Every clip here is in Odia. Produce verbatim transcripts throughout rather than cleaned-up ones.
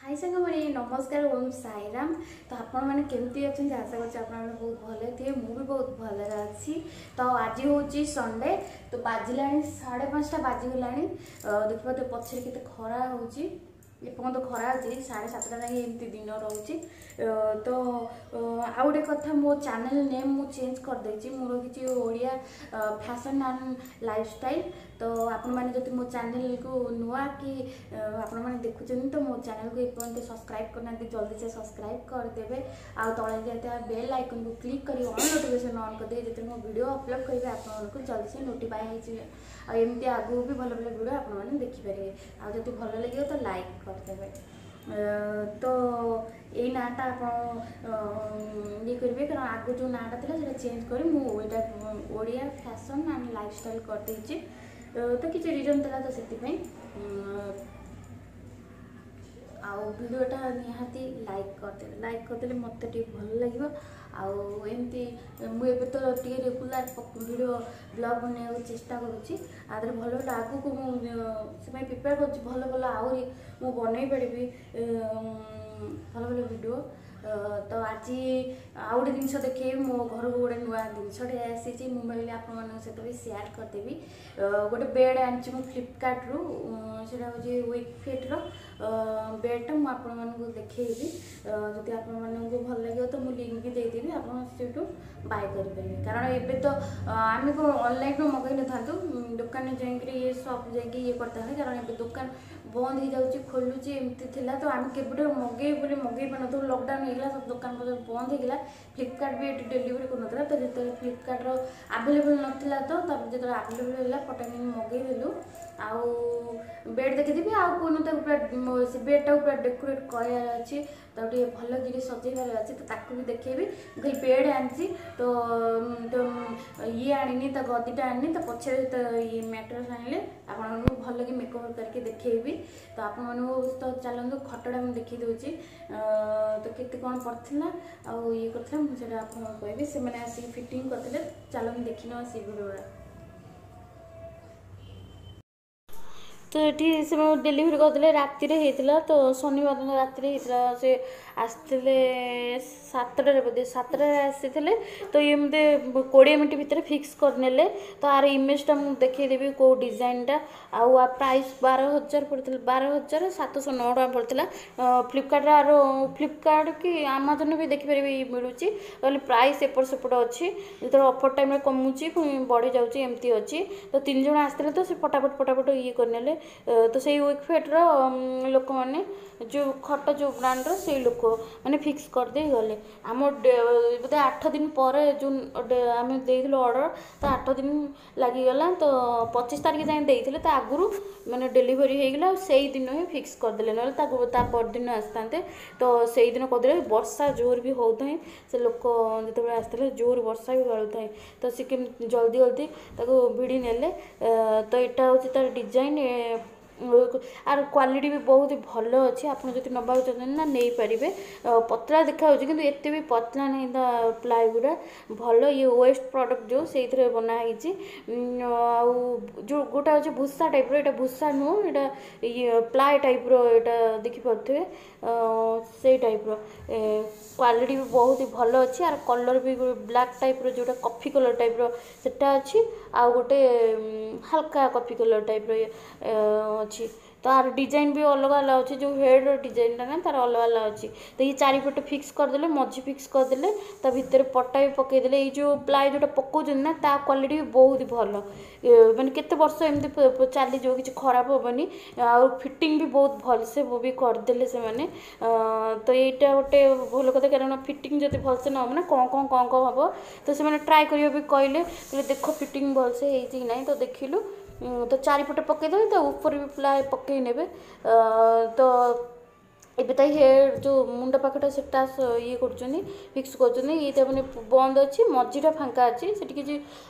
ହାଇ ସାଙ୍ଗମାନେ, ନମସ୍କାର, ଓମ୍ ସାଇରାମ। ତ ଆପଣମାନେ କେମିତି ଅଛନ୍ତି? ଆଶା କରୁଛି ଆପଣମାନେ ବହୁତ ଭଲରେ ଥିବେ। ମୁଁ ବି ବହୁତ ଭଲରେ ଅଛି। ତ ଆଜି ହେଉଛି ସଣ୍ଡେ। ତ ବାଜିଲାଣି ସାଢ଼େ ପାଞ୍ଚଟା ବାଜିଗଲାଣି। ଦେଖିପାରୁଥିବେ ପଛରେ କେତେ ଖରା ହେଉଛି। ଏପର୍ଯ୍ୟନ୍ତ ଖରା ଅଛି, ସାଢ଼େ ସାତଟା ଯାଏଁ ଏମିତି ଦିନ ରହୁଛି। ତ ଆଉ ଗୋଟେ କଥା, ମୋ ଚ୍ୟାନେଲ୍ ନେମ୍ ମୁଁ ଚେଞ୍ଜ କରିଦେଇଛି। ମୁଁ ରଖିଛି ଓଡ଼ିଆ ଫ୍ୟାସନ୍ ଆଣ୍ଡ ଲାଇଫଷ୍ଟାଇଲ୍। ତ ଆପଣମାନେ ଯଦି ମୋ ଚ୍ୟାନେଲ୍କୁ ନୂଆ କି ଆପଣମାନେ ଦେଖୁଛନ୍ତି, ତ ମୋ ଚ୍ୟାନେଲ୍କୁ ଏପର୍ଯ୍ୟନ୍ତ ସବସ୍କ୍ରାଇବ୍ କରିନାହାନ୍ତି, ଜଲ୍ଦି ସେ ସବସ୍କ୍ରାଇବ୍ କରିଦେବେ ଆଉ ତଳେ ଯାଇଥିବା ବେଲ୍ ଆଇକନ୍କୁ କ୍ଲିକ୍ କରି ଅଲ୍ ନୋଟିଫିକେସନ୍ ଅନ୍ କରିଦେବେ। ଯେତେବେଳେ ମୁଁ ଭିଡ଼ିଓ ଅପଲୋଡ଼ କରିବି, ଆପଣମାନଙ୍କୁ ଜଲ୍ଦି ସେ ନୋଟିଫାଏ ହେଇଯିବେ ଆଉ ଏମିତି ଆଗକୁ ବି ଭଲ ଭଲ ଭିଡ଼ିଓ ଆପଣମାନେ ଦେଖିପାରିବେ। ଆଉ ଯଦି ଭଲ ଲାଗିବ ତ ଲାଇକ୍ କରିଦେବେ। ତ ଏଇ ନାଁଟା ଆପଣ ଇଏ କରିବେ, କାରଣ ଆଗରୁ ଯେଉଁ ନାଁଟା ଥିଲା ସେଇଟା ଚେଞ୍ଜ କରି ମୁଁ ଏଇଟା ଓଡ଼ିଆ ଫ୍ୟାସନ୍ ଆଣ୍ଡ ଲାଇଫଷ୍ଟାଇଲ୍ କରିଦେଇଛି। ତ କିଛି ରିଜନ୍ ଥିଲା, ତ ସେଥିପାଇଁ। ଆଉ ଭିଡ଼ିଓଟା ନିହାତି ଲାଇକ୍ କରିଦେବେ। ଲାଇକ୍ କରିଦେଲେ ମୋତେ ଟିକେ ଭଲ ଲାଗିବ। ଆଉ ଏମିତି ମୁଁ ଏବେ ତ ଟିକେ ରେଗୁଲାର ଭିଡ଼ିଓ ବ୍ଲଗ୍ ବନେଇବାକୁ ଚେଷ୍ଟା କରୁଛି। ଆ ଦେହରେ ଭଲ ଭଲ ଆଗକୁ ମୁଁ ସେଥିପାଇଁ ପ୍ରିପେୟାର କରୁଛି, ଭଲ ଭଲ ଆହୁରି ମୁଁ ବନେଇ ପାରିବି ଭଲ ଭଲ ଭିଡ଼ିଓ। ତ ଆଜି ଆଉ ଗୋଟେ ଜିନିଷ ଦେଖେଇବି। ମୋ ଘରକୁ ଗୋଟେ ନୂଆ ଜିନିଷଟେ ଆସିଛି, ମୁଁ ଭାବିଲି ଆପଣମାନଙ୍କ ସହିତ ବି ସେୟାର କରିଦେବି। ଗୋଟେ ବେଡ଼୍ ଆଣିଛି ମୁଁ ଫ୍ଲିପକାର୍ଟରୁ, ସେଇଟା ହେଉଛି ୱିକ୍ ଫିଟ୍ର ବେଡ଼୍ଟା। ମୁଁ ଆପଣମାନଙ୍କୁ ଦେଖେଇବି, ଯଦି ଆପଣମାନଙ୍କୁ ଭଲ ଲାଗିବ ତ ମୁଁ ଲିଙ୍କ୍ ବି ଦେଇଦେବି, ଆପଣ ସେଇଠୁ ବାଇ କରିପାରିବେ। କାରଣ ଏବେ ତ ଆମେ କ'ଣ ଅନଲାଇନ୍ରୁ ମଗାଇ ନଥାନ୍ତୁ, ଦୋକାନରେ ଯାଇକିରି ଇଏ ସପ୍ ଯାଇକି ଇଏ କରିଥାନ୍ତେ, କାରଣ ଏବେ ଦୋକାନ ବନ୍ଦ ହେଇଯାଉଛି, ଖୋଲୁଛି ଏମିତି ଥିଲା। ତ ଆମେ କେବେଠାରୁ ମଗେଇବୁ ବୋଲି ମଗେଇ ପାରୁନଥିଲୁ। ଲକଡାଉନ୍ ହେଇଗଲା, ସବୁ ଦୋକାନ ପତ୍ର ବନ୍ଦ ହେଇଗଲା, ଫ୍ଲିପକାର୍ଟ ବି ଏଠି ଡେଲିଭରି କରୁନଥିଲା। ତ ଯେତେବେଳେ ଫ୍ଲିପକାର୍ଟର ଆଭେଲେବଲ୍ ନଥିଲା, ତ ତାପରେ ଯେତେବେଳେ ଆଭେଲେବଲ୍ ହେଲା, ଫଟାଫଟ ମଗେଇଦେଲୁ। ଆଉ ବେଡ଼୍ ଦେଖିଦେବି ଆଉ ପୁଣି ତାକୁ ପୁରା ସେ ବେଡ଼୍ଟାକୁ ପୁରା ଡେକୋରେଟ୍ କରିବାର ଅଛି, ତାକୁ ଟିକେ ଭଲ କିରି ସଜେଇବାର ଅଛି, ତ ତାକୁ ବି ଦେଖେଇବି। ମୁଁ ଖାଲି ବେଡ଼୍ ଆଣିଛି, ତ ତ ଇଏ ଆଣିନି, ତା ଗଦିଟା ଆଣିନି, ତା ପଛରେ ତ ଇଏ ମ୍ୟାଟ୍ରେସ୍ ଆଣିଲେ ଆପଣମାନଙ୍କୁ ଭଲ କି ମେକଅପ୍ କରିକି ଦେଖେଇବି। ତ ଆପଣମାନଙ୍କୁ ତ ଚାଲନ୍ତୁ, ଖଟଟା ମୁଁ ଦେଖେଇ ଦେଉଛି। ତ କେତେ କ'ଣ ପଡ଼ିଥିଲା ଆଉ ଇଏ କରିଥିଲା, ମୁଁ ସେଇଟା ଆପଣଙ୍କୁ କହିବି। ସେମାନେ ଆସିକି ଫିଟିଂ କରିଥିଲେ। ଚାଲନ୍ତୁ ଦେଖିନେବା ସେ ଭିଡ଼ିଓଟା। ତ ଏଠି ସେମାନେ ଡେଲିଭରି କରିଦେଲେ, ରାତିରେ ହେଇଥିଲା। ତ ଶନିବାର ଦିନ ରାତିରେ ହେଇଥିଲା। ସେ ଆସିଥିଲେ ସାତଟାରେ ବୋଧେ, ସାତଟାରେ ଆସିଥିଲେ। ତ ଇଏ ମୋତେ କୋଡ଼ିଏ ମିନିଟ୍ ଭିତରେ ଫିକ୍ସ କରିନେଲେ। ତ ଆର ଇମେଜଟା ମୁଁ ଦେଖେଇଦେବି କେଉଁ ଡିଜାଇନଟା। ଆଉ ଆ ପ୍ରାଇସ୍ ବାର ହଜାର ପଡ଼ିଥିଲା, ବାର ହଜାର ସାତଶହ ନଅ ଟଙ୍କା ପଡ଼ିଥିଲା ଫ୍ଲିପକାର୍ଟରେ। ଆର ଫ୍ଲିପକାର୍ଟ କି ଆମାଜନ୍ ବି ଦେଖିପାରିବେ ମିଳୁଛି। କହିଲେ ପ୍ରାଇସ୍ ଏପଟ ସେପଟ ଅଛି, ଯେତେବେଳେ ଅଫର୍ ଟାଇମ୍ରେ କମୁଛି, ପୁଣି ବଢ଼ିଯାଉଛି, ଏମିତି ଅଛି। ତ ତିନି ଜଣ ଆସିଥିଲେ, ତ ସେ ଫଟାଫଟ ଫଟାଫଟ ଇଏ କରିନେଲେ। ତ ସେଇ ୱିକଫିଟ୍ର ଲୋକମାନେ, ଯେଉଁ ଖଟ ଯେଉଁ ବ୍ରାଣ୍ଡର, ସେଇ ଲୋକ ମାନେ ଫିକ୍ସ କରିଦେଇ ଗଲେ। ଆମ ବୋଧେ ଆଠ ଦିନ ପରେ ଯେଉଁ ଆମେ ଦେଇଥିଲୁ ଅର୍ଡ଼ର, ତ ଆଠ ଦିନ ଲାଗିଗଲା। ତ ପଚିଶ ତାରିଖ ଯାଏଁ ଦେଇଥିଲେ, ତ ଆଗରୁ ମାନେ ଡେଲିଭରି ହେଇଗଲା ଆଉ ସେଇଦିନ ହିଁ ଫିକ୍ସ କରିଦେଲେ। ନହେଲେ ତାକୁ ତା ପରଦିନ ଆସିଥାନ୍ତେ। ତ ସେଇଦିନ କରିଦେଲେ। ବର୍ଷା ଜୋର ବି ହେଉଥାଏ, ସେ ଲୋକ ଯେତେବେଳେ ଆସିଥିଲେ ଜୋର ବର୍ଷା ବି ଗାଳୁଥାଏ, ତ ସେ କେମିତି ଜଲ୍ଦି ଜଲ୍ଦି ତାକୁ ଭିଡ଼ି ନେଲେ। ତ ଏଇଟା ହେଉଛି ତାର ଡିଜାଇନ୍। ଆର କ୍ୱାଲିଟି ବି ବହୁତ ଭଲ ଅଛି। ଆପଣ ଯଦି ନେବାକୁ ଚାହୁଁଛନ୍ତି ନା, ନେଇପାରିବେ। ପତଳା ଦେଖାଯାଉଛି କିନ୍ତୁ ଏତେ ବି ପତଳା ନାହିଁ, ତା ପ୍ଲାଏ ଗୁଡ଼ା ଭଲ। ଇଏ ୱେଷ୍ଟ ପ୍ରଡ଼କ୍ଟ ଯେଉଁ ସେଇଥିରେ ବନା ହେଇଛି। ଆଉ ଯେଉଁ ଗୋଟେ ଅଛି ଭୁଷା ଟାଇପ୍ର, ଏଇଟା ଭୁଷା ନୁହଁ, ଏଇଟା ଇଏ ପ୍ଲାଏ ଟାଇପ୍ର। ଏଇଟା ଦେଖିପାରୁଥିବେ ସେଇ ଟାଇପ୍ର। କ୍ୱାଲିଟି ବି ବହୁତ ଭଲ ଅଛି। ଆର କଲର୍ ବି ବ୍ଲାକ୍ ଟାଇପ୍ର, ଯେଉଁଟା କଫି କଲର୍ ଟାଇପ୍ର ସେଟା ଅଛି, ଆଉ ଗୋଟେ ହାଲକା କଫି କଲର୍ ଟାଇପ୍ର ଅଛି। ତ ଆର ଡିଜାଇନ୍ ବି ଅଲଗା ଅଲଗା ଅଛି, ଯେଉଁ ହେଡ଼୍ର ଡିଜାଇନ୍ଟା ନା ତାର ଅଲଗା ଅଲଗା ଅଛି। ତ ଇଏ ଚାରିପଟେ ଫିକ୍ସ କରିଦେଲେ, ମଝି ଫିକ୍ସ କରିଦେଲେ, ତା ଭିତରେ ପଟା ବି ପକାଇଦେଲେ। ଏଇ ଯେଉଁ ପ୍ଲାଏ ଯେଉଁଟା ପକାଉଛନ୍ତି ନା, ତା କ୍ୱାଲିଟି ବି ବହୁତ ଭଲ, ମାନେ କେତେ ବର୍ଷ ଏମିତି ଚାଲିଯିବ, କିଛି ଖରାପ ହେବନି। ଆଉ ଫିଟିଂ ବି ବହୁତ ଭଲସେ ବି କରିଦେଲେ ସେମାନେ। ତ ଏଇଟା ଗୋଟେ ଭଲ କଥା, କାରଣ ଫିଟିଂ ଯଦି ଭଲସେ ନ ହେବ ନା, କ'ଣ କ'ଣ କ'ଣ କ'ଣ ହେବ। ତ ସେମାନେ ଟ୍ରାଏ କରିବା ବି କହିଲେ, କହିଲେ ଦେଖ ଫିଟିଂ ଭଲସେ ହେଇଛି କି ନାହିଁ। ତ ଦେଖିଲୁ, ତ ଚାରିପଟେ ପକାଇଦେବେ, ତା ଉପରେ ବି ପ୍ଲାଏ ପକାଇ ନେବେ। ତ ଏବେ ତା ହେଡ଼୍ ଯେଉଁ ମୁଣ୍ଡ ପାଖଟା ସେଟା ଇଏ କରୁଛନ୍ତି, ଫିକ୍ସ କରୁଛନ୍ତି। ଏଇଟା ମାନେ ବନ୍ଦ ଅଛି, ମଝିଟା ଫାଙ୍କା ଅଛି। ସେଠି କିଛି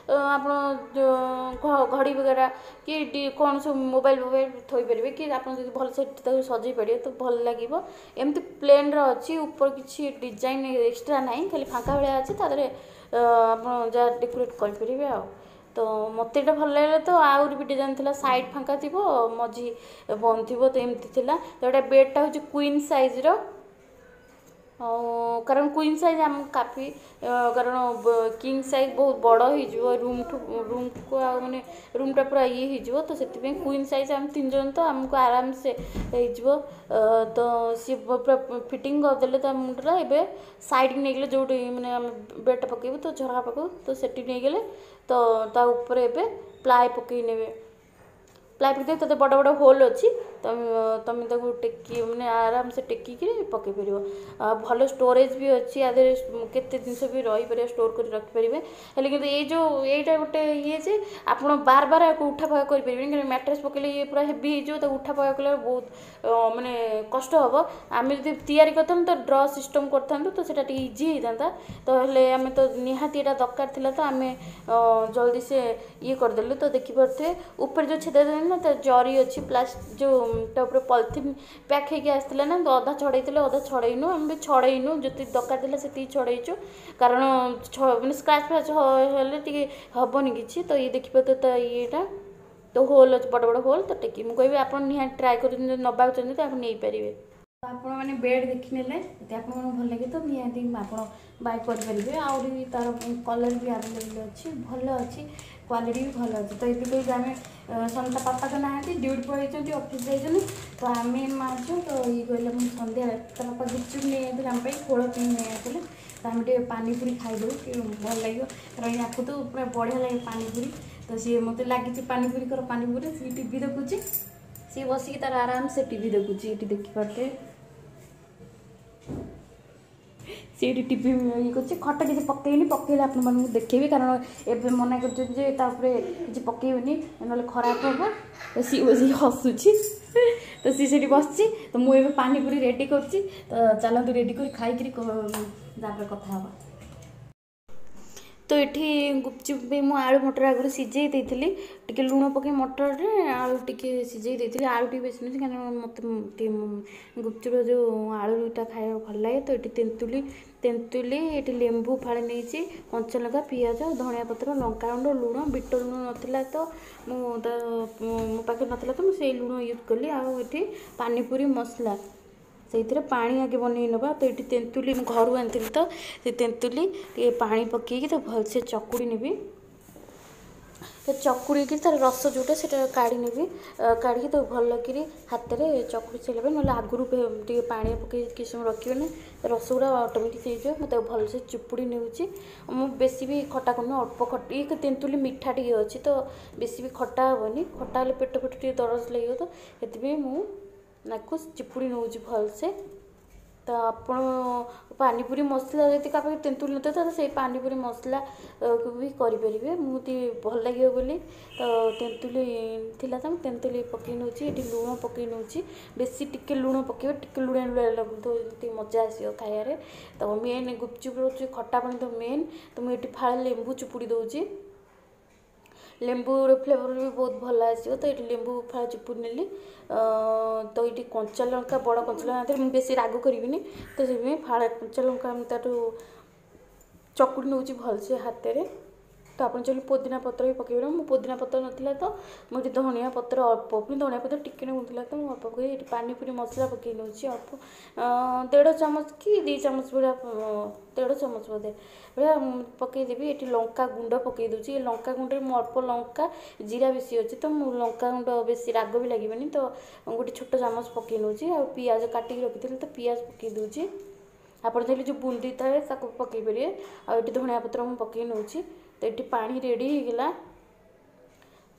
ଆପଣ ଘଡ଼ି ବଗେରା କି କ'ଣ ସବୁ ମୋବାଇଲ୍ ଫୋବାଇଲ୍ ଥୋଇପାରିବେ, କି ଆପଣ ଯଦି ଭଲସେ ତାକୁ ସଜେଇ ପାରିବେ ତ ଭଲ ଲାଗିବ। ଏମିତି ପ୍ଲେନ୍ର ଅଛି, ଉପରେ କିଛି ଡିଜାଇନ୍ ଏକ୍ସଟ୍ରା ନାହିଁ, ଖାଲି ଫାଙ୍କା ଭଳିଆ ଅଛି। ତା ଦେହରେ ଆପଣ ଯାହା ଡେକୋରେଟ୍ କରିପାରିବେ। ଆଉ ତ ମୋତେ ଏଇଟା ଭଲ ଲାଗିଲା। ତ ଆହୁରି ବି ଡିଜାଇନ୍ ଥିଲା, ସାଇଡ଼୍ ଫାଙ୍କା ଥିବ, ମଝି ବନ୍ଦ ଥିବ, ତ ଏମିତି ଥିଲା। ତ ଏଇଟା ବେଡ଼୍ଟା ହେଉଛି କୁଇନ୍ ସାଇଜ୍ର, ଆଉ କାରଣ କୁଇନ୍ ସାଇଜ୍ ଆମକୁ କାଫି, କାରଣ କିଙ୍ଗ ସାଇଜ୍ ବହୁତ ବଡ଼ ହେଇଯିବ ରୁମ୍ଠୁ ରୁମ୍କୁ, ଆଉ ମାନେ ରୁମ୍ଟା ପୁରା ଇଏ ହେଇଯିବ। ତ ସେଥିପାଇଁ କୁଇନ୍ ସାଇଜ୍, ଆମେ ତିନି ଜଣ ତ ଆମକୁ ଆରାମସେ ହେଇଯିବ। ତ ସିଏ ପୁରା ଫିଟିଙ୍ଗ କରିଦେଲେ ତା ମୁଣ୍ଡଟା। ଏବେ ସାଇଡ଼୍କି ନେଇଗଲେ ଯେଉଁଠି ମାନେ ଆମେ ବେଡ଼୍ଟା ପକାଇବୁ, ତ ଝରକା ପାଖକୁ ତ ସେଠି ନେଇଗଲେ। ତ ତା ଉପରେ ଏବେ ପ୍ଲାଏ ପକାଇ ନେବେ। ପ୍ଲାଏ ପକାଇ ତତେ ବଡ଼ ବଡ଼ ହୋଲ୍ ଅଛି, ତମେ ତମେ ତାକୁ ଟେକି ମାନେ ଆରାମସେ ଟେକିକିରି ପକାଇ ପାରିବ। ଆଉ ଭଲ ଷ୍ଟୋରେଜ୍ ବି ଅଛି ଆ ଦେହରେ, କେତେ ଜିନିଷ ବି ରହିପାରିବ, ଷ୍ଟୋର୍ କରି ରଖିପାରିବେ। ହେଲେ କିନ୍ତୁ ଏଇ ଯେଉଁ ଏଇଟା ଗୋଟେ ଇଏ ଯେ ଆପଣ ବାର ବାର ଆକୁ ଉଠା ପକା କରିପାରିବେନି, କାରଣ ମ୍ୟାଟ୍ରେସ୍ ପକାଇଲେ ଇଏ ପୁରା ହେଭି ହେଇଯିବ। ତାକୁ ଉଠା ପକା କଲେ ବହୁତ ମାନେ କଷ୍ଟ ହେବ। ଆମେ ଯଦି ତିଆରି କରିଥାନ୍ତୁ ତ ଡ୍ର ସିଷ୍ଟମ୍ କରିଥାନ୍ତୁ, ତ ସେଇଟା ଟିକେ ଇଜି ହେଇଥାନ୍ତା। ତ ହେଲେ ଆମେ ତ ନିହାତି ଏଇଟା ଦରକାର ଥିଲା, ତ ଆମେ ଜଲ୍ଦି ସେ ଇଏ କରିଦେଲୁ। ତ ଦେଖିପାରୁଥିବେ ଉପରେ ଯେଉଁ ଛେଦ ନା ତା ଜରି ଅଛି, ପ୍ଲାସ୍ ଯେଉଁ ତା ଉପରେ ପଲିଥିନ୍ ପ୍ୟାକ୍ ହେଇକି ଆସିଥିଲା ନା, ତ ଅଧା ଛଡ଼େଇଥିଲେ, ଅଧା ଛଡ଼େଇନୁ। ଆମେ ବି ଛଡ଼େଇନୁ, ଯେତିକି ଦରକାର ଥିଲା ସେତିକି ଛଡ଼େଇଛୁ, କାରଣ ମାନେ ସ୍କ୍ରାଚ୍ ଫ୍ରାଚ୍ ହେଲେ ଟିକେ ହେବନି କିଛି। ତ ଇଏ ଦେଖିପାରୁଥିବେ ତା ଇଏଟା ତ ହୋଲ୍ ଅଛି, ବଡ଼ ବଡ଼ ହୋଲ୍। ତ ଟେକି ମୁଁ କହିବି ଆପଣ ନିହାତି ଟ୍ରାଏ କରୁଛନ୍ତି, ଯଦି ନେବାକୁ ଚାହୁଁଛନ୍ତି ତ ଆପଣ ନେଇପାରିବେ। ତ ଆପଣମାନେ ବେଡ଼୍ ଦେଖିନେଲେ, ଯଦି ଆପଣମାନଙ୍କୁ ଭଲ ଲାଗେ ତ ନିହାତି ଆପଣ ବାଇ କରିପାରିବେ। ଆହୁରି ବି ତା'ର କଲର୍ ବି ଆଭେଲେବଲ୍ ଅଛି, ଭଲ ଅଛି, କ୍ୱାଲିଟି ବି ଭଲ ଅଛି। ତ ଏବେ କହିବି ଆମେ ତା ପାପା ତ ନାହାନ୍ତି, ଡ୍ୟୁଟି ପଳେଇଛନ୍ତି, ଅଫିସ୍ ଯାଇଛନ୍ତି, ତ ଆମେ ମା ଝିଅ। ତ ଇଏ କହିଲେ ମୁଁ ସନ୍ଧ୍ୟାରେ ତା ବାପା ଗୁପଚୁପ୍ ନେଇ ଆସିଥିଲେ ଆମ ପାଇଁ, ଖୋଳ ପାଇଁ ନେଇ ଆସିଥିଲେ, ତ ଆମେ ଟିକେ ପାନିପୁରୀ ଖାଇଦେବୁ, ଟିକେ ଭଲ ଲାଗିବ, କାରଣ ୟାକୁ ତ ପୁରା ବଢ଼ିଆ ଲାଗେ ପାନିପୁରୀ। ତ ସିଏ ମୋତେ ଲାଗିଛି ପାନିପୁରୀ କର ପାନିପୁରୀ। ସିଏ ଟିଭି ଦେଖୁଛି, ସିଏ ବସିକି ତାର ଆରାମସେ ଟିଭି ଦେଖୁଛି। ଏଠି ଦେଖିପାରୁଥିବେ ସେଇଠି ଟିଭି ଇଏ କରୁଛି। ଖଟ କିଛି ପକେଇନି, ପକେଇଲେ ଆପଣମାନଙ୍କୁ ଦେଖେଇବି, କାରଣ ଏବେ ମନା କରୁଛନ୍ତି ଯେ ତା ଉପରେ କିଛି ପକେଇବେନି, ନହେଲେ ଖରାପ ହେବ। ତ ସିଏ ବସିକି ହସୁଛି। ତ ସିଏ ସେଠି ବସିଛି, ତ ମୁଁ ଏବେ ପାନିପୁରୀ ରେଡ଼ି କରୁଛି। ତ ଚାଲନ୍ତୁ ରେଡ଼ି କରି ଖାଇକିରି ତାପରେ କଥା ହେବା। ତ ଏଠି ଗୁପଚୁପ୍ ବି ମୁଁ ଆଳୁ ମଟର ଆଗରୁ ସିଝେଇ ଦେଇଥିଲି, ଟିକେ ଲୁଣ ପକାଇ ମଟରରେ ଆଳୁ ଟିକେ ସିଝେଇ ଦେଇଥିଲି। ଆଳୁ ଟିକେ ବେଶୀ ନୁହେଁ, କାରଣ ମୋତେ ଟିକେ ଗୁପଚୁପ୍ର ଯେଉଁ ଆଳୁଟା ଖାଇବାକୁ ଭଲ ଲାଗେ। ତ ଏଠି ତେନ୍ତୁଲି ତେନ୍ତୁଲି ଏଠି ଲେମ୍ବୁ ଫାଳେ ନେଇଛି, କଞ୍ଚାଲଙ୍କା, ପିଆଜ, ଧଣିଆ ପତ୍ର, ଲଙ୍କାଗୁଣ୍ଡ, ଲୁଣ। ବିଟ ଲୁଣ ନଥିଲା ତ ମୁଁ ତା ମୋ ପାଖରେ ନଥିଲା, ତ ମୁଁ ସେଇ ଲୁଣ ୟୁଜ୍ କଲି। ଆଉ ଏଠି ପାନିପୁରୀ ମସଲା, ସେଇଥିରେ ପାଣି ଆଗେ ବନେଇ ନେବା। ତ ଏଠି ତେନ୍ତୁଲି ମୁଁ ଘରୁ ଆଣିଥିଲି, ତ ସେ ତେନ୍ତୁଲି ଟିକେ ପାଣି ପକାଇକି ତ ଭଲସେ ଚକୁଡ଼ି ନେବି। ତ ଚକୁଡ଼ିକି ତାର ରସ ଯେଉଁଟା ସେଇଟା କାଢ଼ି ନେବି। କାଢ଼ିକି ତାକୁ ଭଲ କିରି ହାତରେ ଚକୁଡ଼ି ସାରିଲା ପରେ, ନହେଲେ ଆଗରୁ ଟିକେ ପାଣି ପକାଇ କିଛି ସମୟ ରଖିବେ ନା ରସ ଗୁଡ଼ା ଅଟୋମେଟିକ୍ ହେଇଯିବ। ମୁଁ ତାକୁ ଭଲସେ ଚିପୁଡ଼ି ନେଉଛି। ମୁଁ ବେଶୀ ବି ଖଟା କରୁନି, ଅଳ୍ପ ଖଟା। ତେନ୍ତୁଲି ମିଠା ଟିକେ ଅଛି, ତ ବେଶୀ ବି ଖଟା ହେବନି। ଖଟା ହେଲେ ପେଟ ଫେଟ ଟିକେ ଦରଜ ଲାଗିବ, ତ ସେଥିପାଇଁ ମୁଁ ତାକୁ ଚିପୁଡ଼ି ନେଉଛି ଭଲସେ। ତ ଆପଣ ପାନିପୁରୀ ମସଲା ଯଦି କାହା ପାଖରେ ତେନ୍ତୁଳି ନଥିବ, ତାହେଲେ ସେଇ ପାନିପୁରୀ ମସଲାକୁ ବି କରିପାରିବେ। ମୁଁ ଟିକେ ଭଲ ଲାଗିବ ବୋଲି ତ ତେନ୍ତୁଲି ଥିଲା, ତ ମୁଁ ତେନ୍ତୁଲି ପକାଇ ନେଉଛି। ଏଠି ଲୁଣ ପକାଇ ନେଉଛି, ବେଶୀ ଟିକେ ଲୁଣ ପକାଇବେ, ଟିକେ ଲୁଣିଆ ଲୁଣିଆ ଲାଗୁଥିବ, ଟିକେ ମଜା ଆସିବ ଖାଇବାରେ। ତ ମେନ୍ ଗୁପଚୁପ୍ ହେଉଛି ଖଟା ପାଣି ତ ମେନ୍। ତ ମୁଁ ଏଠି ଫାଳେ ଲେମ୍ବୁ ଚିପୁଡ଼ି ଦେଉଛି, ଲେମ୍ବୁର ଫ୍ଲେଭର୍ ବି ବହୁତ ଭଲ ଆସିବ। ତ ଏଠି ଲେମ୍ବୁ ଫାଳେ ଚିପୁଡ଼ି ନେଲି। ତ ଏଇଠି କଞ୍ଚା ଲଙ୍କା, ବଡ଼ କଞ୍ଚା ଲଙ୍କା, ମୁଁ ବେଶୀ ରାଗ କରିବିନି, ତ ସେଥିପାଇଁ ଫାଳେ କଞ୍ଚା ଲଙ୍କା ମୁଁ ତାଠୁ ଚକୁଡ଼ି ନେଉଛି ଭଲସେ ହାତରେ। ତ ଆପଣ ଚାହିଁଲେ ପୋଦିନା ପତ୍ର ବି ପକାଇ ପାରିବେ। ମୁଁ ପୋଦିନା ପତ୍ର ନଥିଲା ତ ମୁଁ ଏଠି ଧନିଆ ପତ୍ର ଅଳ୍ପ, ପୁଣି ଧନିଆ ପତ୍ର ଟିକେ ନଥିଲା ତ ମୁଁ ଅଳ୍ପ ପକାଇ ଏଠି ପାନିପୁରୀ ମସଲା ପକାଇ ନେଉଛି ଅଳ୍ପ, ଦେଢ଼ ଚାମଚ କି ଦୁଇ ଚାମଚ ଭଳିଆ, ଦେଢ଼ ଚାମଚ ବୋଧେ ଭଳିଆ ପକାଇଦେବି। ଏଠି ଲଙ୍କା ଗୁଣ୍ଡ ପକାଇ ଦେଉଛି। ଏ ଲଙ୍କା ଗୁଣ୍ଡରେ ମୁଁ ଅଳ୍ପ ଲଙ୍କା, ଜିରା ବେଶୀ ଅଛି, ତ ମୁଁ ଲଙ୍କା ଗୁଣ୍ଡ ବେଶୀ ରାଗ ବି ଲାଗିବନି, ତ ଗୋଟେ ଛୋଟ ଚାମଚ ପକାଇ ନେଉଛି। ଆଉ ପିଆଜ କାଟିକି ରଖିଥିଲି, ତ ପିଆଜ ପକାଇ ଦେଉଛି। ଆପଣ ଚାହିଁଲେ ଯେଉଁ ବୁନ୍ଦି ଥାଏ ତାକୁ ପକାଇ ପାରିବେ। ଆଉ ଏଠି ଧଣିଆ ପତ୍ର ମୁଁ ପକାଇ ନେଉଛି। ତ ଏଠି ପାଣି ରେଡ଼ି ହେଇଗଲା।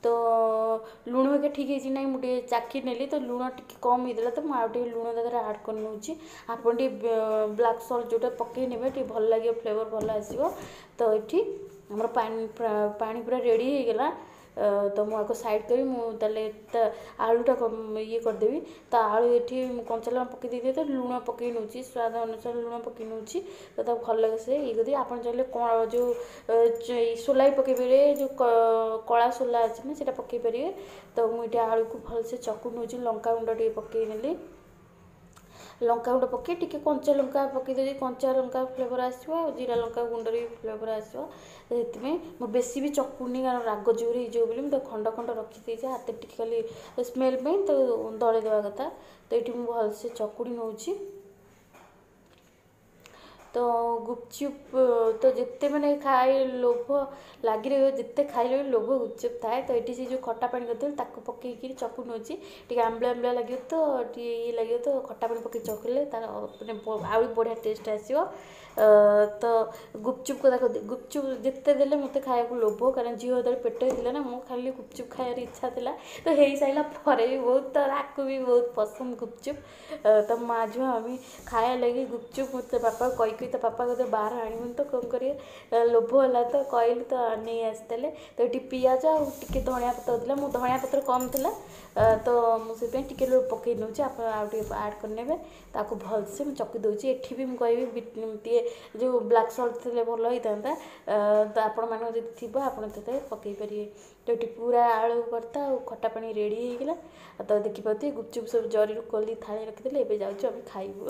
ତ ଲୁଣ ହେରିକା ଠିକ୍ ହେଇଛି ନାହିଁ ମୁଁ ଟିକେ ଚାଖି ନେଲି, ତ ଲୁଣ ଟିକେ କମ୍ ହେଇଥିଲା, ତ ମୁଁ ଆଉ ଟିକେ ଲୁଣ ତା ଦେହରେ ଆଡ଼୍ କରି ନେଉଛି। ଆପଣ ଟିକେ ବ୍ଲାକ୍ ସଲ୍ଟ ଯେଉଁଟା ପକାଇ ନେବେ, ଟିକେ ଭଲ ଲାଗିବ, ଫ୍ଲେଭର୍ ଭଲ ଆସିବ। ତ ଏଠି ଆମର ପାଣି ପାଣି ପୁରା ରେଡ଼ି ହେଇଗଲା। ତ ମୁଁ ଆକୁ ସାଇଡ଼୍ କରି ମୁଁ ତାହେଲେ ତା ଆଳୁଟା ଇଏ କରିଦେବି। ତ ଆଳୁ ଏଠି ମୁଁ କଞ୍ଚା ଲଙ୍କା ପକାଇ ଦେଇଥିଲି, ତ ଲୁଣ ପକାଇ ନେଉଛି, ସ୍ୱାଦ ଅନୁସାରେ ଲୁଣ ପକାଇ ନେଉଛି। ତ ତାକୁ ଭଲ ସେ ଇଏ କରିଦେବି। ଆପଣ ଚାହିଁଲେ କ'ଣ ଯେଉଁ ସୋଲା ବି ପକାଇ ପାରିବେ, ଯେଉଁ କଳା ସୋଲା ଅଛି ନା, ସେଇଟା ପକାଇ ପାରିବେ। ତ ମୁଁ ଏଠି ଆଳୁକୁ ଭଲସେ ଚକୁଡ଼ି ନେଉଛି, ଲଙ୍କା ଗୁଣ୍ଡ ଟିକେ ପକାଇ ନେଲି। ଲଙ୍କା ଗୁଣ୍ଡ ପକାଇ ଟିକେ କଞ୍ଚା ଲଙ୍କା ପକାଇ ଦେଉଛି, କଞ୍ଚା ଲଙ୍କା ଫ୍ଲେଭର୍ ଆସିବ ଆଉ ଜିରା ଲଙ୍କା ଗୁଣ୍ଡରେ ବି ଫ୍ଲେଭର୍ ଆସିବ। ସେଥିପାଇଁ ମୁଁ ବେଶୀ ବି ଚକୁନି, କାରଣ ରାଗ ଜୋରେ ହେଇଯିବ ବୋଲି ମୁଁ ତାକୁ ଖଣ୍ଡ ଖଣ୍ଡ ରଖିଦେଇଛି ହାତରେ ଟିକେ ଖାଲି ସ୍ମେଲ୍ ପାଇଁ ତ ଦଳି ଦେବା କଥା। ତ ଏଇଠି ମୁଁ ଭଲସେ ଚକୁଡ଼ି ନେଉଛି। ତ ଗୁପଚୁପ୍ ତ ଯେତେ ମାନେ ଖାଇ ଲୋଭ ଲାଗି ରହିବ, ଯେତେ ଖାଇଲେ ବି ଲୋଭ ଗୁପଚୁପ୍ ଥାଏ। ତ ଏଠି ସେ ଯେଉଁ ଖଟା ପାଣି କରିଥିଲି ତାକୁ ପକେଇକିରି ଚକୁଡ଼ି ନେଉଛି। ଟିକେ ଆମ୍ବିଳା ଆମ୍ବିଳା ଲାଗିବ ତ ଟିକେ ଇଏ ଲାଗିବ, ତ ଖଟା ପାଣି ପକେଇ ଚକୁଡ଼ିଲେ ତାର ମାନେ ଆହୁରି ବଢ଼ିଆ ଟେଷ୍ଟ ଆସିବ। ତ ଗୁପଚୁପ୍ କଥା, ଗୁପଚୁପ୍ ଯେତେ ଦେଲେ ମୋତେ ଖାଇବାକୁ ଲୋଭ, କାରଣ ଝିଅ ଯେତେବେଳେ ପେଟ ହେଇଥିଲା ନା, ମୁଁ ଖାଲି ଗୁପଚୁପ୍ ଖାଇବାର ଇଚ୍ଛା ଥିଲା। ତ ହେଇସାରିଲା ପରେ ବି ବହୁତ, ତ ତାକୁ ବି ବହୁତ ପସନ୍ଦ ଗୁପଚୁପ୍। ତ ମା ଝିଅ ଆମେ ଖାଇବା ଲାଗି ଗୁପଚୁପ୍ ମୁଁ ତା ବାପାକୁ କହି କହି, ତା ବାପା କହିଲେ ବାହାର ଆଣିବୁନି, ତ କ'ଣ କରିବେ, ଲୋଭ ହେଲା ତ କହିଲି ତ ନେଇ ଆସିଥିଲେ। ତ ଏଠି ପିଆଜ ଆଉ ଟିକେ ଧଣିଆ ପତ୍ର ଥିଲା, ମୁଁ ଧଣିଆ ପତ୍ର କମ୍ ଥିଲା ତ ମୁଁ ସେଥିପାଇଁ ଟିକେ ପକାଇ ନେଉଛି, ଆପଣ ଆଉ ଟିକେ ଆଡ଼୍ କରିନେବେ। ତାକୁ ଭଲସେ ମୁଁ ଚକି ଦେଉଛି। ଏଠି ବି ମୁଁ କହିବି ଟିକେ ଯେଉଁ ବ୍ଲାକ୍ ସଲ୍ଟ ଥିଲେ ଭଲ ହେଇଥାନ୍ତା, ତ ଆପଣମାନଙ୍କ ଯଦି ଥିବ ଆପଣ ସେଥିରେ ପକାଇ ପାରିବେ। ତ ଏଠି ପୁରା ଆଳୁ ଭର୍ତ୍ତା ଆଉ ଖଟା ପାଣି ରେଡ଼ି ହେଇଗଲା। ତ ଦେଖିପାରୁଥିବେ ଗୁପଚୁପ୍ ସବୁ ଜରିରୁ ଖୋଲି ଥାଳି ରଖିଦେଲେ, ଏବେ ଯାଉଛୁ ଆମେ ଖାଇବୁ।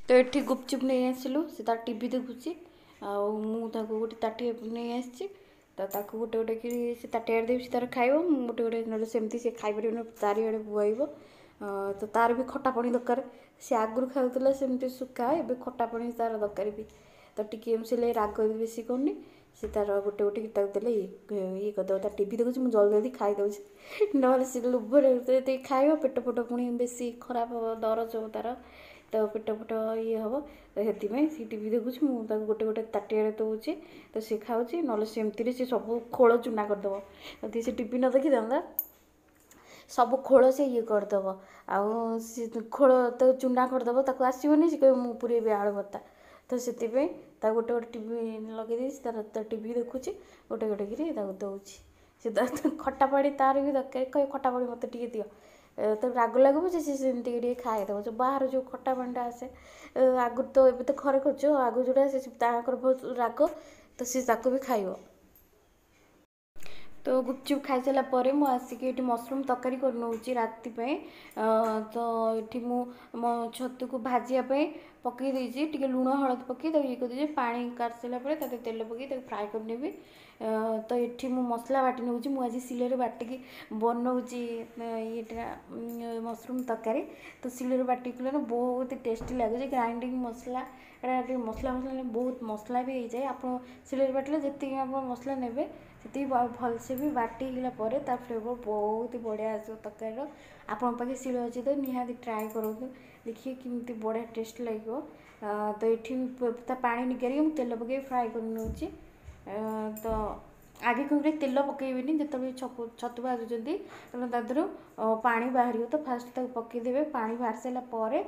ତ ଏଠି ଗୁପଚୁପ୍ ନେଇ ଆସିଲୁ, ସେ ତାର ଟିଭି ଦେଖୁଛି ଆଉ ମୁଁ ତାକୁ ଗୋଟେ ତାଟିଆ ନେଇ ଆସିଛି। ତ ତାକୁ ଗୋଟେ ଗୋଟେ କରି ସେ ତାଟିଆରେ ଦେବି, ସେ ତାର ଖାଇବ, ମୁଁ ଗୋଟେ ଗୋଟେ, ନହେଲେ ସେମିତି ସେ ଖାଇପାରିବନି, ଚାରିଆଡ଼େ ବୁଆଇବ। ତ ତାର ବି ଖଟା ପାଣି ଦରକାର। ସେ ଆଗରୁ ଖାଉଥିଲା ସେମିତି ଶୁଖା, ଏବେ ଖଟା ପାଣି ତାର ଦରକାର ବି। ତ ଟିକେ ସେ ରାଗ ବି ବେଶୀ କରୁନି, ସେ ତାର ଗୋଟେ ଗୋଟେ ତାକୁ ଦେଲେ ଇଏ ଇଏ କରିଦେବ। ତା ଟିଭି ଦେଖୁଛି, ମୁଁ ଜଲ୍ଦି ଜଲ୍ଦି ଖାଇଦେଉଛି, ନହେଲେ ସେ ଲୋଭରେ ଯେତିକି ଖାଇବ ପେଟ ଫେଟ ପୁଣି ବେଶୀ ଖରାପ ହେବ, ଦରଜ ହେବ ତାର, ତ ପେଟ ଫେଟ ଇଏ ହେବ। ତ ସେଥିପାଇଁ ସେ ଟିଭି ଦେଖୁଛି, ମୁଁ ତାକୁ ଗୋଟେ ଗୋଟେ ତାଟିଆରେ ଦେଉଛି ତ ସେ ଖାଉଛି, ନହେଲେ ସେମିତିରେ ସେ ସବୁ ଖୋଳ ଚୁନା କରିଦେବ। ଯଦି ସେ ଟିଭି ନ ଦେଖିଥାନ୍ତା ସବୁ ଖୋଳ ସେ ଇଏ କରିଦେବ, ଆଉ ସେ ଖୋଳ ତାକୁ ଚୁନା କରିଦେବ, ତାକୁ ଆସିବନି, ସେ କହିବ ମୁଁ ପୁରେଇବି ଆଳୁ ଭର୍ତ୍ତା। ତ ସେଥିପାଇଁ ତାକୁ ଗୋଟେ ଗୋଟେ ଟିଭି ଲଗେଇ ଦେଇଛି, ତାର ଟିଭି ଦେଖୁଛି, ଗୋଟେ ଗୋଟେ କିରି ତାକୁ ଦେଉଛି। ସେ ଖଟା ପାଣି ତାର ବି ଦରକାର, କହିବ ଖଟା ପାଣି ମୋତେ ଟିକେ ଦିଅ। ତ ରାଗ ଲାଗିବ ଯେ ସେ ସେମିତି ଟିକେ ଟିକେ ଖାଇଦେବ। ଯେଉଁ ବାହାରୁ ଯେଉଁ ଖଟା ପାଣିଟା ଆସେ ଆଗରୁ, ତ ଏବେ ତ ଘରେ କରୁଛୁ, ଆଗରୁ ଯେଉଁଟା ଆସେ ତାଙ୍କର ବହୁତ ରାଗ, ତ ସେ ତାକୁ ବି ଖାଇବ। ତ ଗୁପଚୁପ୍ ଖାଇସାରିଲା ପରେ ମୁଁ ଆସିକି ଏଠି ମସରୁମ୍ ତରକାରୀ କରିନେଉଛି ରାତି ପାଇଁ। ତ ଏଠି ମୁଁ ମୋ ଛତୁକୁ ଭାଜିବା ପାଇଁ ପକାଇ ଦେଇଛି, ଟିକେ ଲୁଣ ହଳଦୀ ପକାଇ ତାକୁ ଇଏ କରିଦେଇଛି। ପାଣି କାଢ଼ି ସାରିଲା ପରେ ତା ଦେହରେ ତେଲ ପକାଇ ତାକୁ ଫ୍ରାଏ କରିନେବି। ତ ଏଠି ମୁଁ ମସଲା ବାଟି ନେଉଛି, ମୁଁ ଆଜି ଶିଳରେ ବାଟିକି ବନଉଛି ଇଏଟା ମସରୁମ୍ ତରକାରୀ। ତ ଶିଳରେ ବାଟିକି କଲେ ନା ବହୁତ ଟେଷ୍ଟି ଲାଗୁଛି। ଗ୍ରାଇଣ୍ଡିଙ୍ଗ ମସଲା ଏଇଟା ଟିକେ ମସଲା ମସଲା ବହୁତ ମସଲା ବି ହେଇଯାଏ। ଆପଣ ଶିଳରେ ବାଟିଲେ ଯେତିକି ଆପଣ ମସଲା ନେବେ ସେତିକି ଭଲସେ ବି ବାଟି ହେଇଗଲା ପରେ ତା ଫ୍ଲେଭର୍ ବହୁତ ବଢ଼ିଆ ଆସିବ ତରକାରୀର। ଆପଣଙ୍କ ପାଖେ ଶିଳ ଅଛି ତ ନିହାତି ଟ୍ରାଏ କରନ୍ତୁ, ଦେଖିବେ କେମିତି ବଢ଼ିଆ ଟେଷ୍ଟ ଲାଗିବ। ତ ଏଠି ତା ପାଣି ନିଗାରିକି ମୁଁ ତେଲ ପକାଇ ଫ୍ରାଏ କରି ନେଉଛି। ତ ଆଗେ କ'ଣ କରିବେ, ତେଲ ପକାଇବେନି ଯେତେବେଳେ ଛତୁ ଭାଜୁଛନ୍ତି, କାରଣ ତା ଦେହରୁ ପାଣି ବାହାରିବ। ତ ଫାଷ୍ଟ ତାକୁ ପକାଇଦେବେ, ପାଣି ବାହାରି ସାରିଲା ପରେ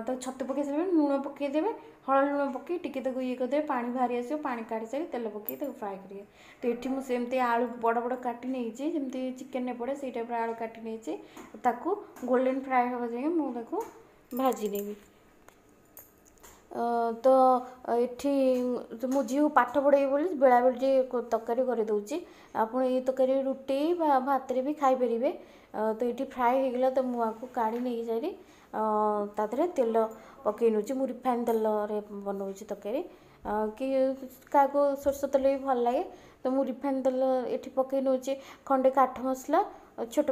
ତ ଛତୁ ପକାଇ ସାରିଲା ପରେ ଲୁଣ ପକାଇଦେବେ, ହଳଦୀ ଲୁଣ ପକାଇ ଟିକେ ତାକୁ ଇଏ କରିଦେବେ, ପାଣି ବାହାରି ଆସିବ। ପାଣି କାଢ଼ି ସାରି ତେଲ ପକାଇ ତାକୁ ଫ୍ରାଏ କରିବେ। ତ ଏଠି ମୁଁ ସେମିତି ଆଳୁ ବଡ଼ ବଡ଼ କାଟି ନେଇଛି, ଯେମିତି ଚିକେନରେ ପଡ଼େ ସେଇ ଟାଇପ୍ର ଆଳୁ କାଟି ନେଇଛି। ତାକୁ ଗୋଲ୍ଡେନ୍ ଫ୍ରାଏ ହେବା ଯାଏଁ ମୁଁ ତାକୁ ଭାଜି ନେବି। ତ ଏଠି ମୁଁ ଝିଅକୁ ପାଠ ପଢ଼େଇବି ବୋଲି ବେଳାବେଳି ଟିକେ ତରକାରୀ କରିଦେଉଛି। ଆପଣ ଏଇ ତରକାରୀ ରୁଟି ବା ଭାତରେ ବି ଖାଇପାରିବେ। ତ ଏଠି ଫ୍ରାଏ ହେଇଗଲା, ତ ମୁଁ ଆକୁ କାଢ଼ି ନେଇକି ସାରି ତା ଦେହରେ ତେଲ ପକାଇ ନେଉଛି। ମୁଁ ରିଫାଇନ୍ ତେଲରେ ବନାଉଛି ତରକାରୀ, କି କାହାକୁ ସୋରିଷ ତେଲ ବି ଭଲ ଲାଗେ। ତ ମୁଁ ରିଫାଇନ୍ ତେଲ ଏଠି ପକାଇ ନେଉଛି, ଖଣ୍ଡେ କାଠ ମସଲା ଛୋଟ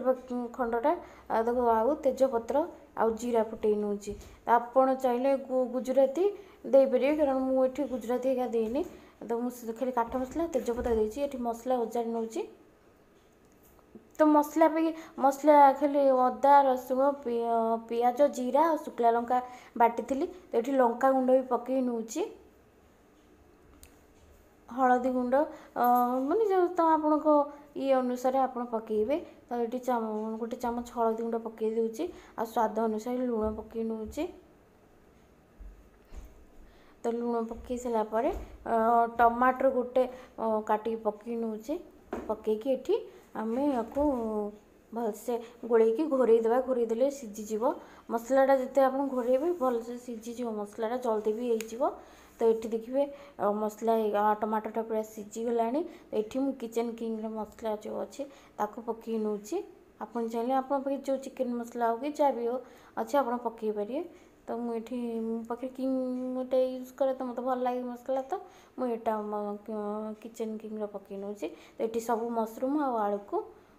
ଖଣ୍ଡଟା ତାକୁ ଆଉ ତେଜପତ୍ର ଆଉ ଜିରା ଫୁଟେଇ ନେଉଛି। ଆପଣ ଚାହିଁଲେ ଗୁଜୁରାତି ଦେଇପାରିବେ, କାରଣ ମୁଁ ଏଠି ଗୁଜୁରାତି ହେରିକା ଦେଇନି, ତ ମୁଁ ଖାଲି କାଠ ମସଲା ତେଜପତ୍ର ଦେଇଛି। ଏଠି ମସଲା ଓଜାଡ଼ି ନେଉଛି। ତ ମସଲା ବି ମସଲା ଖାଲି ଅଦା ରସୁଣ ପିଆଜ ଜିରା ଆଉ ଶୁଖିଲା ଲଙ୍କା ବାଟିଥିଲି। ତ ଏଠି ଲଙ୍କା ଗୁଣ୍ଡ ବି ପକାଇ ନେଉଛି, ହଳଦୀ ଗୁଣ୍ଡ, ମାନେ ଯେଉଁ ତ ଆପଣଙ୍କ ଇଏ ଅନୁସାରେ ଆପଣ ପକାଇବେ। ତ ଏଠି ଗୋଟେ ଚାମଚ ହଳଦୀ ଗୁଣ୍ଡ ପକାଇ ଦେଉଛି ଆଉ ସ୍ୱାଦ ଅନୁସାରେ ଲୁଣ ପକାଇ ନେଉଛି। ତ ଲୁଣ ପକାଇ ସାରିଲା ପରେ ଟମାଟର ଗୋଟେ କାଟିକି ପକାଇ ନେଉଛି। ପକାଇକି ଏଠି ଆମେ ୟାକୁ ଭଲସେ ଗୋଳେଇକି ଘୋଡ଼େଇ ଦେବା। ଘୋଡ଼େଇ ଦେଲେ ସିଝିଯିବ ମସଲାଟା, ଯେତେ ଆପଣ ଘୋଡ଼େଇବେ ଭଲସେ ସିଝିଯିବ ମସଲାଟା, ଜଲ୍ଦି ବି ହେଇଯିବ। ତ ଏଠି ଦେଖିବେ ମସଲା ଟମାଟୋଟା ପୁରା ସିଝିଗଲାଣି। ଏଠି ମୁଁ କିଚେନ୍ କିଙ୍ଗର ମସଲା ଯେଉଁ ଅଛି ତାକୁ ପକାଇ ନେଉଛି। ଆପଣ ଚାହିଁଲେ ଆପଣଙ୍କ ପାଖରେ ଯେଉଁ ଚିକେନ୍ ମସଲା ହେଉ କି ଯାହା ବି ହେଉ ଅଛି, ଆପଣ ପକାଇ ପାରିବେ। ତ ମୁଁ ଏଠି ମୋ ପାଖରେ କିଙ୍ଗ ଗୋଟେ ୟୁଜ୍ କରେ, ତ ମୋତେ ଭଲ ଲାଗେ ମସଲା, ତ ମୁଁ ଏଇଟା କିଚେନ୍ କିଙ୍ଗର ପକାଇ ନେଉଛି। ତ ଏଠି ସବୁ ମସରୁମ୍ ଆଉ ଆଳୁକୁ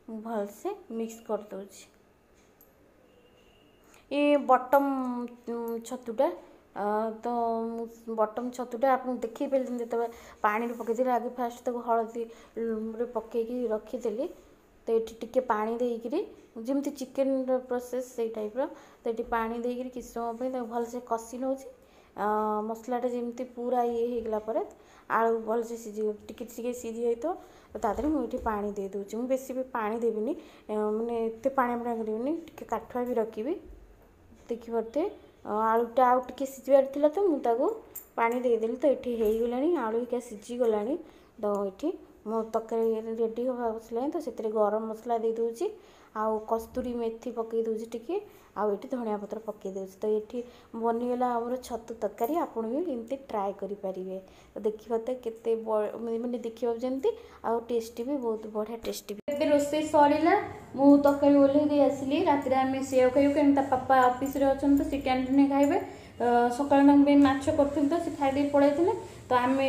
ମୁଁ ଭଲସେ ମିକ୍ସ କରିଦେଉଛି। ଏ ବଟମ୍ ଛତୁଟା, ତ ମୁଁ ବଟମ୍ ଛତୁଟା ଆପଣଙ୍କୁ ଦେଖେଇ ପାରିଲିନି ଯେତେବେଳେ ପାଣିରେ ପକାଇଥିଲି। ଆଗେ ଫାଷ୍ଟ ତାକୁ ହଳଦୀରେ ପକାଇକି ରଖିଥିଲି। ତ ଏଠି ଟିକେ ପାଣି ଦେଇକିରି, ଯେମିତି ଚିକେନର ପ୍ରୋସେସ୍ ସେଇ ଟାଇପ୍ର, ତ ଏଠି ପାଣି ଦେଇକିରି କିଛି ସମୟ ପାଇଁ ତାକୁ ଭଲସେ କଷି ନେଉଛି। ମସଲାଟା ଯେମିତି ପୁରା ଇଏ ହେଇଗଲା ପରେ, ଆଳୁ ଭଲସେ ସିଝି ଟିକେ ଟିକେ ସିଝି ଯାଇଥିବ, ତ ତା ଦେହରେ ମୁଁ ଏଠି ପାଣି ଦେଇ ଦେଉଛି। ମୁଁ ବେଶୀ ବି ପାଣି ଦେବିନି, ମାନେ ଏତେ ପାଣିଆ ପାଣିଆ କରିବିନି, ଟିକେ କାଠୁଆ ବି ରଖିବି। ଦେଖିପାରୁଥିବେ, ଆଳୁଟା ଆଉ ଟିକେ ସିଝିବାର ଥିଲା, ତ ମୁଁ ତାକୁ ପାଣି ଦେଇଦେଲି। ତ ଏଠି ହେଇଗଲାଣି, ଆଳୁ ହେଇକା ସିଝିଗଲାଣି। ତ ଏଠି ମୋ ତରକାରୀ ରେଡ଼ି ହେବାକୁ ବସିଲାଣି। ତ ସେଥିରେ ଗରମ ମସଲା ଦେଇଦେଉଛି ଆଉ କସ୍ତୁରୀ ମେଥି ପକାଇ ଦେଉଛି ଟିକେ, ଆଉ ଏଠି ଧଣିଆ ପତ୍ର ପକାଇ ଦେଉଛି। ତ ଏଠି ବନିଗଲା ଆମର ଛତୁ ତରକାରୀ। ଆପଣ ବି ଏମିତି ଟ୍ରାଏ କରିପାରିବେ। ତ ଦେଖିବା ତ କେତେ ମାନେ ଦେଖିବାକୁ ଯେମିତି ଆଉ ଟେଷ୍ଟି ବି ବହୁତ ବଢ଼ିଆ ଟେଷ୍ଟି। ଏବେ ରୋଷେଇ ସରିଲା, ମୁଁ ତରକାରୀ ଓହ୍ଲେଇ ଦେଇ ଆସିଲି। ରାତିରେ ଆମେ ସେଇଆକୁ ଖାଇବୁ, କାହିଁକି ତା ପାପା ଅଫିସରେ ଅଛନ୍ତି, ତ ସେ କ୍ୟାଣ୍ଟିନରେ ଖାଇବେ। ସକାଳେ ତାଙ୍କ ପାଇଁ ମାଛ କରିଥିଲି, ତ ସେ ଖାଇଦେଇ ପଳେଇଥିଲେ। ତ ଆମେ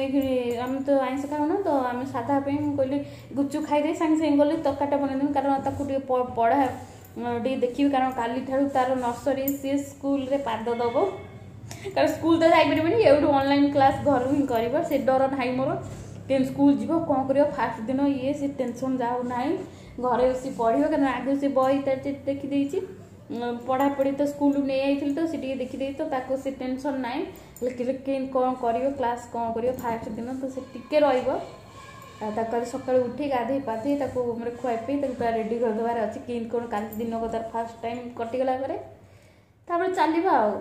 ଆମେ ତ ଆଇଁଷ ଖାଉନା, ତ ଆମେ ସାଧା ପାଇଁ ମୁଁ କହିଲି ଗୁପଚୁପ୍ ଖାଇଦେଇ ସାଙ୍ଗେ ସାଙ୍ଗେ ଗଲି ତରକାରୀଟା ବନେଇଦେବି, କାରଣ ତାକୁ ଟିକେ ପଢ଼ା ଟିକେ ଦେଖିବି, କାରଣ କାଲିଠାରୁ ତାର ନର୍ସରୀ ସିଏ ସ୍କୁଲରେ ପାଦ ଦେବ। କାରଣ ସ୍କୁଲ ତ ଯାଇପାରିବନି, ଏଇଠୁ ଅନଲାଇନ୍ କ୍ଲାସ୍ ଘରୁ ହିଁ କରିବ। ସେ ଡର ନାହିଁ ମୋର, କେମିତି ସ୍କୁଲ ଯିବ, କ'ଣ କରିବ ଫାଷ୍ଟ ଦିନ, ଇଏ ସେ ଟେନସନ୍ ଯାଉ ନାହିଁ। ଘରେ ବସି ପଢ଼ିବ, କାରଣ ଆଗରୁ ସେ ବହି ତାର ଦେଖିଦେଇଛି। ପଢ଼ାପଢ଼ି ତ ସ୍କୁଲରୁ ନେଇଯାଇଥିଲି, ତ ସେ ଟିକେ ଦେଖିଦେଇଛି, ତ ତାକୁ ସେ ଟେନସନ୍ ନାହିଁ। ହେଲେ କେମିତି କ'ଣ କରିବ, କ୍ଲାସ୍ କ'ଣ କରିବ ଫାଷ୍ଟ ଦିନ, ତ ସେ ଟିକେ ରହିବ। ଆଉ ତାକୁ କାଲି ସକାଳୁ ଉଠି ଗାଧେଇ ପାଧେଇ ତାକୁ ମାନେ ଖୁଆଇ ପିଇ ତାକୁ ପୁରା ରେଡ଼ି କରିଦେବାର ଅଛି, କେମିତି କ'ଣ କାଲି ଦିନକ ତାର ଫାଷ୍ଟ ଟାଇମ୍ କଟିଗଲା ପରେ ତାପରେ ଚାଲିବ। ଆଉ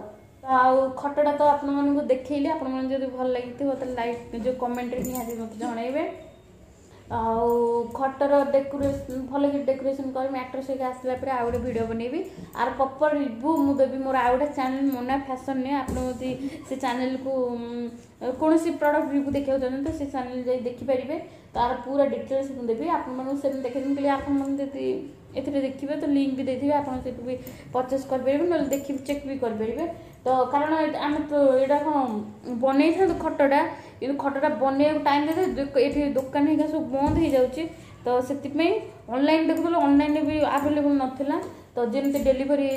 ଆଉ ଖଟଟା ତ ଆପଣମାନଙ୍କୁ ଦେଖେଇଲି। ଆପଣମାନଙ୍କୁ ଯଦି ଭଲ ଲାଗିଥିବ ତାହେଲେ ଲାଇକ୍ ଯେଉଁ କମେଣ୍ଟରେ ନିହାତି ମୋତେ ଜଣାଇବେ। ଆଉ ଖଟର ଡେକୋରେସନ୍ ଭଲକି ଡେକୋରେସନ୍ କରି ମ୍ୟାଟ୍ରେସ୍ ହେଇକି ଆସିଲା ପରେ ଆଉ ଗୋଟେ ଭିଡ଼ିଓ ବନେଇବି, ଆର ପ୍ରପର୍ ରିଭ୍ୟୁ ମୁଁ ଦେବି ମୋର ଆଉ ଗୋଟେ ଚ୍ୟାନେଲ୍ ମୋନା ଫ୍ୟାସନ୍ରେ। ଆପଣ ଯଦି ସେ ଚ୍ୟାନେଲ୍କୁ କୌଣସି ପ୍ରଡ଼କ୍ଟ ରିଭ୍ୟୁ ଦେଖିବାକୁ ଚାହୁଁଛନ୍ତି, ତ ସେ ଚ୍ୟାନେଲ୍ ଯାଇ ଦେଖିପାରିବେ। ତାର ପୁରା ଡିଟେଲ୍ସ ମୁଁ ଦେବି ଆପଣମାନଙ୍କୁ, ସେମିତି ଦେଖେଇଦେବି। କହିଲି ଆପଣମାନେ ଯଦି ଏଥିରେ ଦେଖିବେ ତ ଲିଙ୍କ୍ ବି ଦେଇଥିବେ, ଆପଣ ସେଠୁ ବି ପରଚେସ୍ କରିପାରିବେ, ନହେଲେ ଦେଖି ଚେକ୍ ବି କରିପାରିବେ। ତ କାରଣ ଆମେ ତ ଏଇଟା କ'ଣ ବନେଇଥାନ୍ତୁ ଖଟଟା, କିନ୍ତୁ ଖଟଟା ବନେଇବାକୁ ଟାଇମ୍ ଦେଇଥାଏ, ଏଠି ଦୋକାନ ହେଇକା ସବୁ ବନ୍ଦ ହେଇଯାଉଛି, ତ ସେଥିପାଇଁ ଅନଲାଇନ୍ ଦେଖୁଥିଲୁ, ଅନଲାଇନ୍ରେ ବି ଆଭେଲେବୁଲ୍ ନଥିଲା। ତ ଯେମିତି ଡେଲିଭରି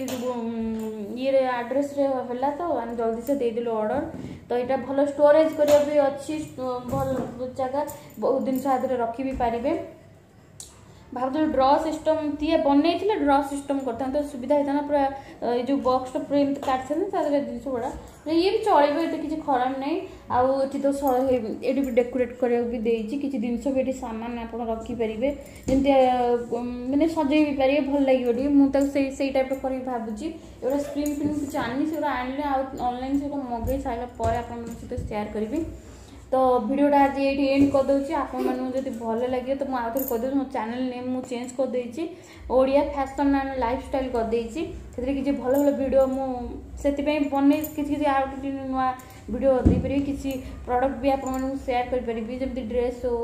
ଇଏରେ ଆଡ୍ରେସ୍ରେ ହେଲା, ତ ଆମେ ଜଲ୍ଦି ସେ ଦେଇଦେଲୁ ଅର୍ଡ଼ର। ତ ଏଇଟା ଭଲ ଷ୍ଟୋରେଜ୍ କରିବା ବି ଅଛି, ଭଲ ଜାଗା, ବହୁତ ଜିନିଷ ଆ ଦେହରେ ରଖି ବି ପାରିବେ। ଭାବୁଥିଲି ଡ୍ର ସିଷ୍ଟମ୍ ତିଆ ବନେଇଥିଲେ ଡ୍ର ସିଷ୍ଟମ୍ କରିଥାନ୍ତେ, ସୁବିଧା ହେଇଥାନ୍ତା। ପୁରା ଏଇ ଯେଉଁ ବକ୍ସଟା ପୁରା ଏମିତି କାଟିଥାନ୍ତେ, ତା ଦେହରେ ଜିନିଷ ଗୁଡ଼ା ଇଏ ବି ଚଳିବ, ଏତେ କିଛି ଖରାପ ନାହିଁ। ଆଉ ଏଠି ତ ଏଠି ବି ଡେକୋରେଟ୍ କରିବାକୁ ବି ଦେଇଛି କିଛି ଜିନିଷ ବି, ଏଠି ସାମାନ ଆପଣ ରଖିପାରିବେ, ଯେମିତି ମାନେ ସଜେଇ ବି ପାରିବେ, ଭଲ ଲାଗିବ ଟିକେ। ମୁଁ ତାକୁ ସେଇ ସେଇ ଟାଇପ୍ର କରିବି ଭାବୁଛି। ଏଗୁଡ଼ା ସ୍କ୍ରିନ୍ ଫ୍ରିନ୍ କିଛି ଆଣିନି, ସେଗୁଡ଼ା ଆଣିଲେ ଆଉ ଅନଲାଇନ୍ ସେଗୁଡ଼ା ମଗେଇ ସାରିଲା ପରେ ଆପଣମାନଙ୍କ ସହିତ ସେୟାର କରିବି। ତ ଭିଡ଼ିଓଟା ଆଜି ଏଇଠି ଏଣ୍ଡ କରିଦେଉଛି। ଆପଣମାନଙ୍କୁ ଯଦି ଭଲ ଲାଗିବ ତ ମୁଁ ଆଉ ଥରେ କହିଦେଉଛି, ମୋ ଚ୍ୟାନେଲ୍ ନେମ୍ ମୁଁ ଚେଞ୍ଜ କରିଦେଇଛି, ଓଡ଼ିଆ ଫ୍ୟାସନ୍ ଆଣ୍ଡ ଲାଇଫଷ୍ଟାଇଲ୍ କରିଦେଇଛି। ସେଥିରେ କିଛି ଭଲ ଭଲ ଭିଡ଼ିଓ ମୁଁ ସେଥିପାଇଁ ବନେଇ କିଛି କିଛି ଆଉ କିଛି ନୂଆ ଭିଡ଼ିଓ ଦେଇପାରିବି, କିଛି ପ୍ରଡ଼କ୍ଟ ବି ଆପଣମାନଙ୍କୁ ସେୟାର କରିପାରିବି, ଯେମିତି ଡ୍ରେସ୍ ହଉ,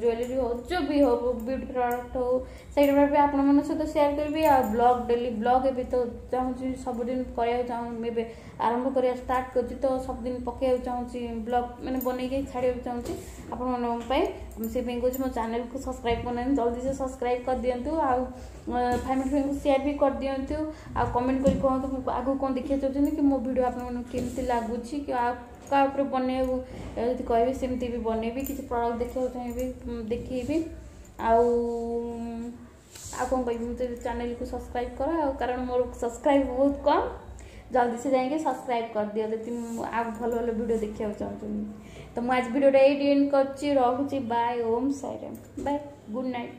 ଜୁଏଲାରୀ ହଉ, ଯେଉଁ ବି ହଉ, ବିୟୁଟି ପ୍ରଡ଼କ୍ଟ ହଉ, ସେଇଗୁଡ଼ା ବି ଆପଣମାନଙ୍କ ସହିତ ସେୟାର କରିବି। ଆଉ ବ୍ଲଗ୍, ଡେଲି ବ୍ଲଗ୍ ଏବେ ତ ଚାହୁଁଛି ସବୁଦିନ କରିବାକୁ ଚାହୁଁ, ଏବେ ଆରମ୍ଭ କରିବା ଷ୍ଟାର୍ଟ କରୁଛି, ତ ସବୁଦିନ ପକାଇବାକୁ ଚାହୁଁଛି, ବ୍ଲଗ୍ ମାନେ ବନେଇକି ଛାଡ଼ିବାକୁ ଚାହୁଁଛି ଆପଣମାନଙ୍କ ପାଇଁ। ମୁଁ ସେଇପାଇଁ କହୁଛି, ମୋ ଚ୍ୟାନେଲକୁ ସବସ୍କ୍ରାଇବ୍ କରୁନାହାନ୍ତି, ଜଲ୍ଦି ସେ ସବସ୍କ୍ରାଇବ୍ କରିଦିଅନ୍ତୁ, ଆଉ ଫ୍ୟାମିଲି ଫ୍ରେଣ୍ଡକୁ ସେୟାର ବି କରିଦିଅନ୍ତୁ, ଆଉ କମେଣ୍ଟ କରି କୁହନ୍ତୁ ଆଗକୁ କ'ଣ ଦେଖିବାକୁ ଚାହୁଁଛନ୍ତି, କି ମୋ ଭିଡ଼ିଓ ଆପଣମାନଙ୍କୁ କେମିତି ଲାଗୁଛି, କି ଆଉ କାହା ଉପରେ ବନେଇବାକୁ ଯଦି କହିବେ ସେମିତି ବି ବନେଇବି, କିଛି ପ୍ରଡ଼କ୍ଟ ଦେଖିବାକୁ ଚାହିଁବି ଦେଖେଇବି। ଆଉ ଆଉ କ'ଣ କହିବି ମୁଁ, ତ ଚ୍ୟାନେଲକୁ ସବସ୍କ୍ରାଇବ୍ କର, ଆଉ କାରଣ ମୋର ସବସ୍କ୍ରାଇବ୍ ବହୁତ କମ୍, ଜଲ୍ଦି ସେ ଯାଇକି ସବସ୍କ୍ରାଇବ୍ କରିଦିଅ ଯଦି ମୁଁ ଆଉ ଭଲ ଭଲ ଭିଡ଼ିଓ ଦେଖିବାକୁ ଚାହୁଁଛନ୍ତି। ତ ମୁଁ ଆଜି ଭିଡ଼ିଓଟା ଏଇଠି ଏଣ୍ଡ କରୁଛି, ରହୁଛି, bye, Om Sairam, bye, good night.